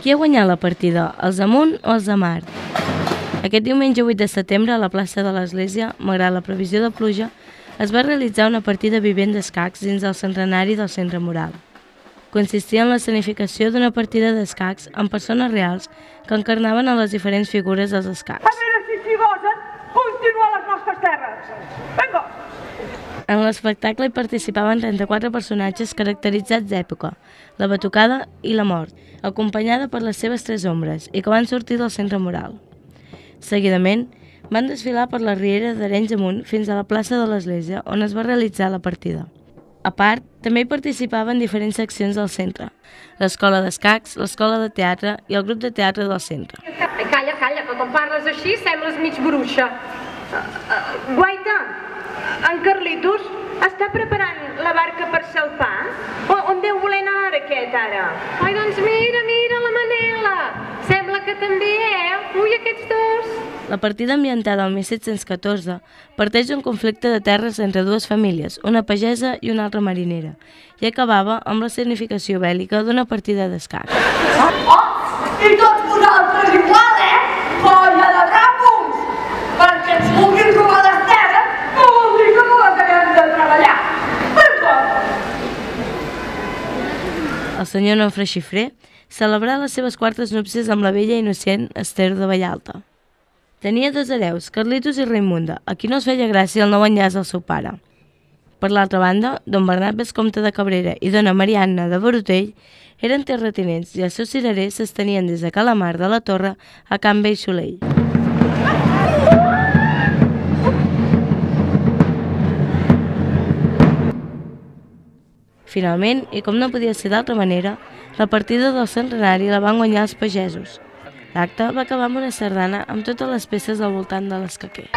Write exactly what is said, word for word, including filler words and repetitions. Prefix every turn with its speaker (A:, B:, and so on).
A: Qui ha guanyat la partida, els de Munt o els de Mar? Aquest diumenge vuit de setembre, a la plaça de l'Església, malgrat la previsió de pluja, es va realitzar una partida vivent d'escacs dins del centenari del Centre Moral. Consistia en l'escenificació d'una partida d'escacs amb persones reals que encarnaven a les diferents figures dels escacs.
B: A veure si s'hi gosen continuar a les nostres terres. Vinga!
A: En l'espectacle hi participaven trenta-quatre personatges caracteritzats d'època, la batucada i la mort, acompanyada per les seves tres ombres i que van sortir del Centre Moral. Seguidament, van desfilar per la riera d'Arenys amunt fins a la plaça de l'Església, on es va realitzar la partida. A part, també hi participaven diferents seccions del centre, l'escola d'escacs, l'escola de teatre i el grup de teatre del centre.
C: Calla, calla, que quan parles així sembles mig bruixa. Guaita, en Carlitos està preparant la barca per salpar? On deu voler anar ara aquest, ara? Ai, doncs mira, mira la Manela. Sembla que també, eh? Ui, aquests dos.
A: La partida ambientada al mil set-cents catorze parteix d'un conflicte de terres entre dues famílies, una pagesa i una altra marinera, i acabava amb la significació bèl·lica d'una partida d'escacs.
B: Oh, i tots vosaltres igual, eh? Colla de capos! Perquè ens vulguin robar les terres no vol dir que no les haguem de treballar.
A: El senyor Nofre Xifré celebrà les seves quartes núpcies amb la bella i innocent Esther de Vallalta. Tenia dos hereus, Carlitos i Raimunda, a qui no es feia gràcia el nou enllaç del seu pare. Per l'altra banda, don Bernat Vescomte de Cabrera i dona Marianna de Borutell eren terratinents i els seus cirerers s'estenien des de Calamar de la Torre a Can Vell Solell. Finalment, i com no podia ser d'altra manera, la partida del centenari la van guanyar els pagesos. L'acte va acabar amb una sardana amb totes les peces al voltant de l'escaquer.